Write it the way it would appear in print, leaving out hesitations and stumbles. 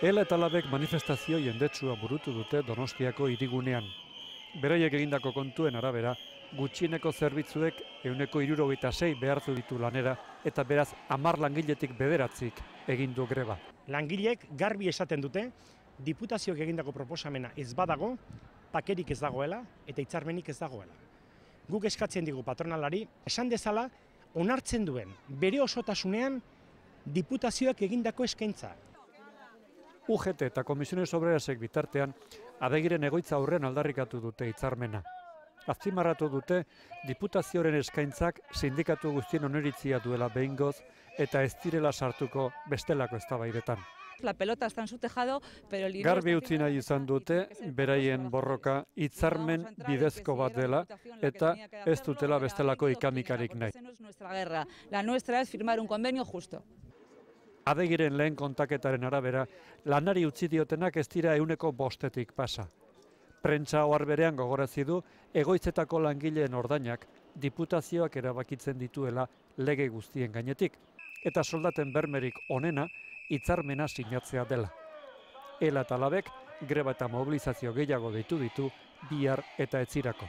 Ela eta Labek manifestazio jendetsua burutu dute Donostiako hirigunean. Beraiek egindako kontuen arabera, gutxieneko zerbitzuek 176 behartu ditu lanera eta beraz 10 langiletik 9 egin du greba. Langileek garbi esaten dute, diputazioak egindako proposamena ez badago, pakerik ez dagoela eta hitzarmenik ez dagoela. Guk eskatzen digu patronalari, esan dezala, onartzen duen bere osotasunean diputazioak egindako eskaintza. UGT eta Komisiones Obrerasek bitartean, Adegiren egoitza aurren aldarrikatu dute hitzarmena. Azpimarratu dute, diputazioaren eskaintzak sindikatu guztien oniritzia duela behingoz eta ez direla sartuko bestelako eztabaidetan. La pelota está en su tejado, pero el Garbi utzi nahi izan dute, beraien borroka hitzarmen bidezko bat dela eta ez dutela bestelako ikamikarik nahi. La nuestra es firmar un convenio justo. Adegiren lehen kontaketaren arabera, lanari utzi diotenak ez dira 105 pasa. Prentsa ohar berean gogorazi du egoitzetako langileen ordainak diputazioak erabakitzen dituela lege guztien gainetik, eta soldaten bermerik onena hitzarmena sinatzea dela. Ela eta Labek greba eta mobilizazio gehiago deitu ditu bihar eta etzirako.